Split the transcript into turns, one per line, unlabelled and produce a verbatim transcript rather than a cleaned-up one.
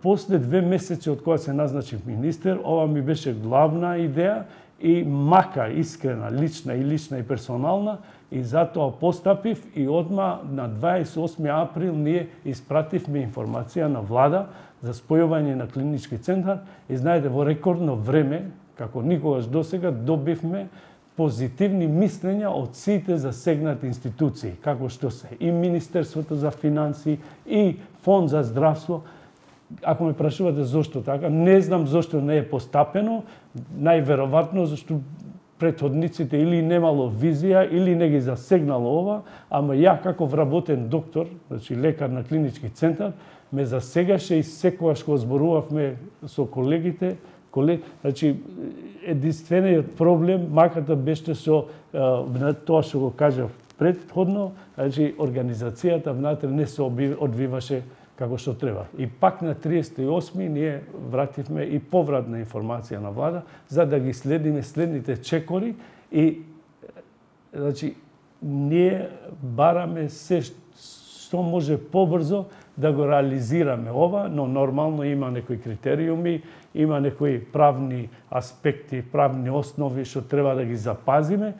После две месеци од кога се назначив министер, ова ми беше главна идеја и мака искрена, лична и лична и персонална, и затоа постапив и одма на дваесет и осми април ние испративме информација на влада за спојување на клинички центар и знаете во рекордно време, како никогаш досега, добивме позитивни мислења од сите засегнати институции, како што се и Министерството за финансии, и Фонд за здравство. Ако ме прашувате зошто така, не знам зошто не е постапено, најверојатно зашто претходниците или немало визија, или не ги засегнало ова, ама ја како вработен доктор, значи лекар на клинички центар, ме засегаше и секогаш кога зборувавме со колегите, колег, значи единствениот проблем, маката беше со тоа што го кажав претходно, значи организацијата внатре не се одвиваше како што треба. И пак на триесет и осми ние вративме и повратна информација на влада за да ги следиме следните чекори и значи ние бараме се што може побрзо да го реализираме ова, но нормално има некои критериуми, има некои правни аспекти, правни основи што треба да ги запазиме.